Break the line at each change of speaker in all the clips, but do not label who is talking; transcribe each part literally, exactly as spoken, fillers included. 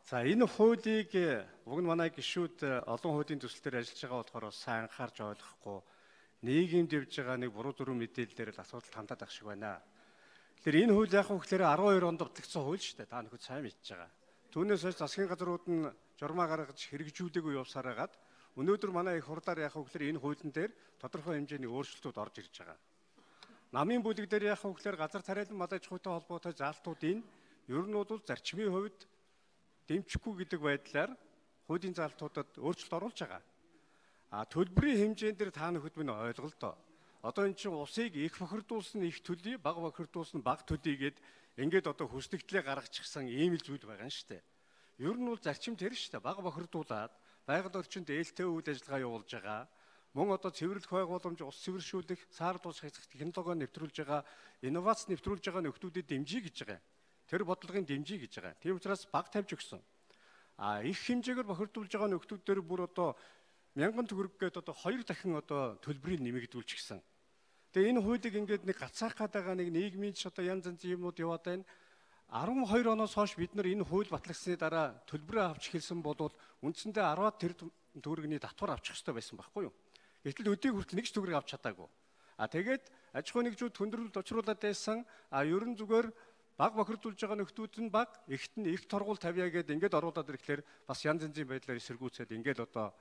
За энэ хуулийг уг нь манай гишүүд олон хуулийн төсөл дээр ажиллаж байгаа болохоор сайн анхаарч ойлгохгүй нийгэмд явж байгаа нэг буруу дүрм мэдээлэлээр л асуудал хандаад ах шиг байна. Тэгэхээр энэ хууль яг хөөхлөөр арван хоёр онд батлагдсан хууль шүү дээ. Та нөхөд сайн мэдж байгаа. Түүнээс хойш засгийн газрууд нь журмаа гаргаж хэрэгжүүлээгүй явсараагаад өнөөдөр манай их хурлаар яг хөөхлөөр энэ хуулийн дээр тодорхой хэмжээний өөрчлөлтүүд орж ирж байгаа. Намын бүлэг дээр яг хөөхлөөр газар тариалан мал аж ахуйтай холбоотой заалтуудын ер нь бол зарчмын хувьд дэмжихгүй гэдэг байдлаар хуулийн заалтуудад өөрчлөлт оруулж байгаа. А төлбөрийн хэмжээнд дээр та нөхөд минь ойлголоо. Одоо эн чинь усыг их бохирдуулсан их төлөй, бага бохирдуулсан бага төлөйгээд ингээд одоо хүснэгтлээ гаргачихсан ийм л зүйл байгаа юм шүү дээ. Ер нь бол зарчим тэр шүү дээ. Бага бохирдуулаад байгаль орчинд ээлтэй үйл ажиллагаа явуулж байгаа. Мөн одоо цэвэрлэх байгууламж, ус цэвэршүүлэх, саар дуус технологи нэвтрүүлж байгаа, инновац нэвтрүүлж байгаа нөхдүүдэд дэмжиж гэж байгаа. Тэр бодлогын дэмжиж гэж байгаа. Тийм учраас баг тавьж өгсөн. А их хэмжээгээр бохирдуулж байгаа нөхдүүд дээр бүр одоо мянган төгрөг гээд одоо хоёр дахин одоо төлбөрийг нэмэгдүүлчихсэн. Тэгээ энэ хуулийг ингээд нэг гацаах гадаага нэг нийгмийн ч одоо янз янзын юмуд яваад байна. арван хоёр оноос хойш бид нар энэ хууль батлагдсны дараа төлбөрөө авч эхэлсэн бол үндсэндээ арваад тэр төгрөгийн татвар авчих хэрэгтэй байсан байхгүй юу? Гэтэл өдийг хүртэл нэг ч төгрөг авч чадаагүй. А тэгээд аж ахуй нэгжүүд хүндрэлд очруулаад байсан. А ерөн зүгээр баг бохирдуулж байгаа нөхдүүд нь баг, ихт нь их торгуул тавья гэдээ ингээд оруулаад ирэхлээр бас янз янзын байдлаар эсэргүүцээд ингээд одоо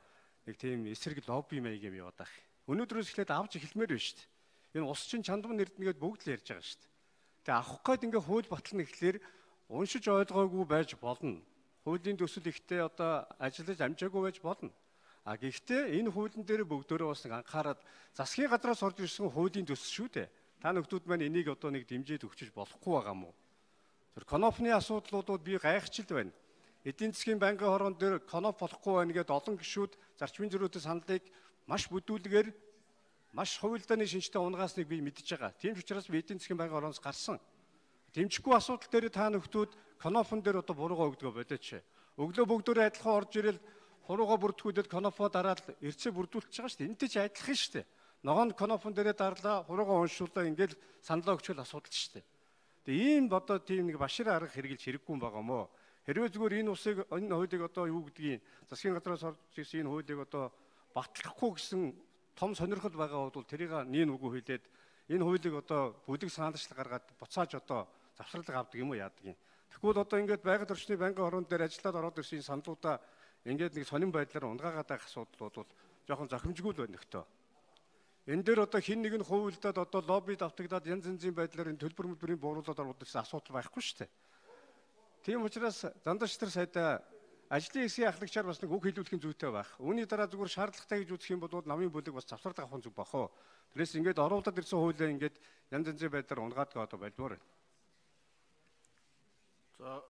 нэг тийм эсрэг лобби маяг юм яваад байх. Өнөөдрөөс эхлээд авч эхэлмээр байна шүү дээ. Энэ ус чинь чандам нэрднэгээд бүгд л ярьж байгаа шүү дээ. Тэгээ авах гээд ингээд хууль батлна гэхлээр уншиж ойлгоогүй байж болно. Хуулийн төсөл ихтэй одоо ажиллаж амжаагүй байж болно. А гэхдээ энэ хуулийн дээр бүгдөө бас нэг анхаарад засгийн газраас орж ирсэн хуулийн төсөл шүү дээ. Та нөхдүүд маань энийг одоо нэг дэмжиж өгчөж болохгүй байгаа мó. Тэр конопны асуудлуудууд би гайхчил байна. Эдийн засгийн банкны хорон дээр коноп болохгүй байна гэдээ олон гишүүд зарчмын зөрүүтэй саналыг маш бүдүүлгээр маш хувилдааны шинжтэй унгаасныг би мэдж байгаа. Тийм ч учраас би эдийн засгийн банкны хороноос гарсан. Дэмжихгүй асуудал дээр та нөхдүүд конопон дээр одоо буруугаа өгдөгөө болооч. Өглөө бүгдөө адилхан орж ирэл хуруугаа бүрдгүүлээд конопоо дараад эрцээ бүрдүүлж байгаа шүү дээ. Энтэй ч адилхан шүү дээ. Ногоон конопон дээрээ дарлаа, хуруугаа уншууллаа ингээд саналаа өгчөөл асуудал шүү дээ. Тэгээ ийм одоо тийм нэг башир арга хэрэгжилж хэрэггүй юм байгаа мó. Хэрвээ зүгээр энэ усыг энэ хуулийг одоо юу гэдгийг засгийн газраас орж ирсэн энэ хуулийг одоо батлахгүй гэсэн том сонирхол байгаа бол тэрийг нийн үгүй хэлээд энэ хуулийг одоо бүлэг саналчлал гаргаад буцааж одоо завсралга авдаг юм уу яадаг юм. Тэгвэл одоо ингээд байгаль орчны банкны хорон дээр ажиллаад ороод ирсэн саналуудаа ингээд нэг сонин байдлаар унгаагаад байх асуудал бол жоохон зохимжгүй л байна нөхтөө. Энэ дээр одоо хин нэг нь хуульдаад одоо лоббид автагдаад янз янзын байдлаар энэ төлбөр мөлбөрийн бууруулаад ороод ирсэн асуудал байхгүй шүү дээ. Тийм учраас зандаж тэр сайдаа ажлын хэсгийн ахлагчаар бас нэг үг хэлүүлэхийн зүйтэй байх. Үүний дараа зүгээр шаардлагатай гэж үзэх юм бол намын бүлэг бас завсарлага авах зүг бахоо. Тэрээс ингээд оруулаад ирсэн хуулиа ингээд янз янзын байдлаар унгаадаг одоо байлмаар байна.
За